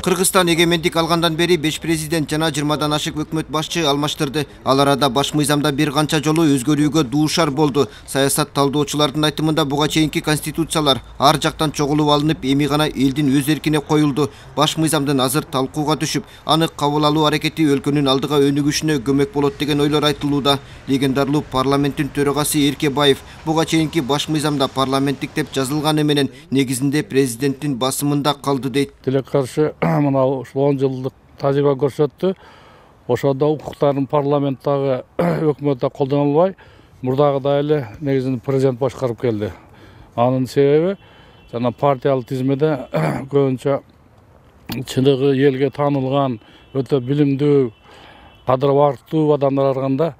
Кыргызстан эгемендик алгандан бери 5 президент жана 20дан ашык өкмөт башчы алмаштырды. Ал арада баш мыйзамда бир канча жолу өзгөрүүгө дуушар болду. Саясат талдоочулардын айтымында буга чейинки конституциялар ар жактан чогулуп алынып, эми гана элдин өз эркине коюлду. Баш мыйзамдын азыр талкууга түшүп, аны кабыл алуу аракети өлкөнүн алдыга өнүгүшүнө көмөк болот деген ойлор айтылууда. Легендарлуу парламенттин төрагасы Эркебаев буга чейинки баш мыйзамда парламенттик деп жазылганы менен негизинде президенттин басымында калды дейт. Тилекке каршы мына 10 жылдык тажрыйба көрсөттү. Ошондо укуктарын парламенттагы өкмөттө колдонулбай, мурдагыдай эле негизинде президент башкарып келди. Анын себеби жана партиялык тизмеде көбүнчө чыныгы элге таанылган, өтө билимдүү, кадыр барктуу адамдар арганда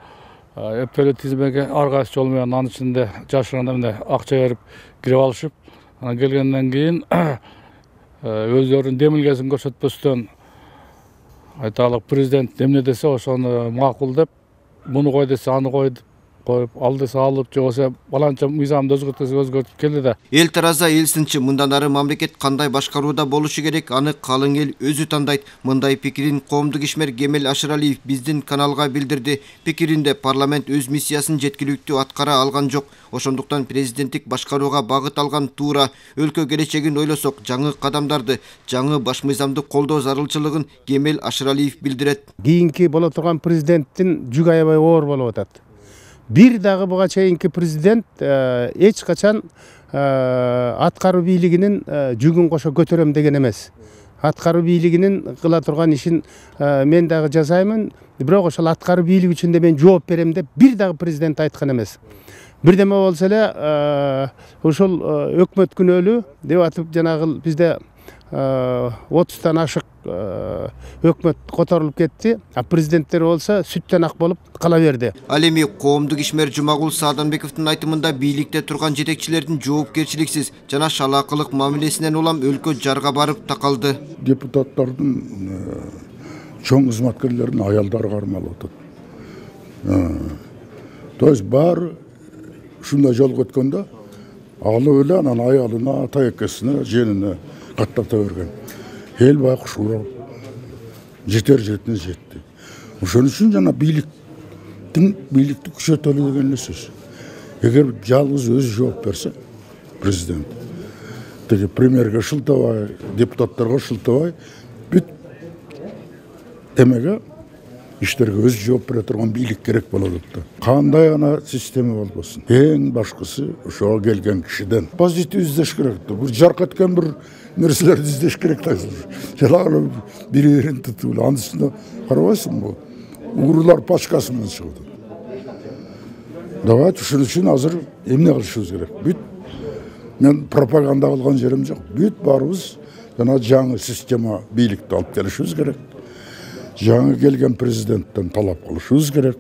эптеле тизмеге ар кайсы жол менен анын ичинде жашырганда мындай акча берип кирип алышып, анан келгенден кийин өздөрүнүн демилгесин көрсөтпөстөн айталык президент эмне десе ошону макул деп, муну кой десе аны коюп, ал десе алып, же болбосо баланча мыйзамды өзгөрт десе өзгөртүп келди да. Эл тараза эл сынчы, мындан ары мамлекет кандай башкарууда болушу керек, аны калың эл өзү тандайт. Мындай пикирин коомдук ишмер Кемел Ашыралиев биздин каналга билдирди. Пикиринде парламент өз миссиясын жеткиликтүү аткара алган жок. Ошондуктан президенттик башкарууга багыт алган туура. Өлкө келечегин ойлосок, жаңы кадамдарды, жаңы баш мыйзамды колдоо зарылчылыгын Кемел Ашыралиев билдирет. Кийинки боло турган президенттин жүк аябай оор болуп атат. Бир дагы буга чейинки президент эч качан аткаруу бийлигинин жүгүн кошо көтөрөм деген эмес. Аткаруу бийлигинин кыла турган ишин мен дагы жасаймын, бирок ошол аткаруу бийлиги үчүн да мен жооп берем деп бир дагы президент айткан эмес. Бирдеме болсо эле ушул өкмөт күнөөлүү деп атып, жанагы бизде 30тан ашык өкмөт которулуп кетти, а президенттер болсо сүттөн ак болуп кала берди. Ал эми коомдук ишмер Жумагул Сааданбековдун айтымында бийликте турган жетекчилердин жоопкерчиликсиз жана шалаакылык мамилесинен улам өлкө жарга барып такалды. Депутаттардын чоң кызматкерлердин аялдары кармалып атат. То есть баары ушундай жолго өткөндө алып эле анан аялына, ата экесине, женине каттата берген. Эл байкуш урап, жетер жетине жетти. Ошон үчүн жана бийликти күчөтөлү деген эле сөз. Эгер жалгыз өзү жооп берсе, президент теги премьерге шылтабай, депутаттарга шылтабай, бүт эмеге иштерге өзү жооп бере турган бийлик керек болот да. Кандай ана система болбосун. Эң башкысы ошого келген кишиден позитив издеш керек да. Бир жарк эткен бир нерселерди издеш керек да. Жалаң бири-бирин тутуп, анын үстүнө карабайсыңбы? Уурулар пачкасы менен чыгып. Давайте ушун үчүн азыр эмне кылышыбыз керек? Бүт мен пропаганда кылган жерим жок. Бүт баарыбыз жана жаңы система бийликти алып келишибиз керек. Жаңы келген президенттен талап кылышыбыз керек.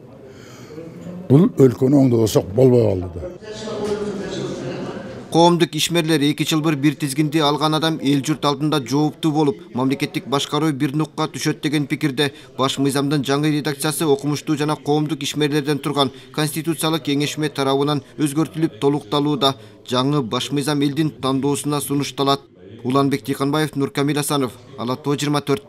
Бул өлкөнү оңдосок болбой калды да. Коомдук ишмерлер 2 жылбыр бир тизгинди алган адам эл журт алдында жооптуу болуп, мамлекеттик башкаруу бир нукка түшөт деген пикирде. Баш мыйзамдын жаңы редакциясы окумуштуу жана коомдук ишмерлерден турган Конституциялык кеңешме тарабынан өзгөртүлүп толукталууда. Жаңы баш мыйзам элдин тандоосуна сунушталат. Уланбек Тыйканбаев, Нуркамил Асанов, Ала Тоо 24.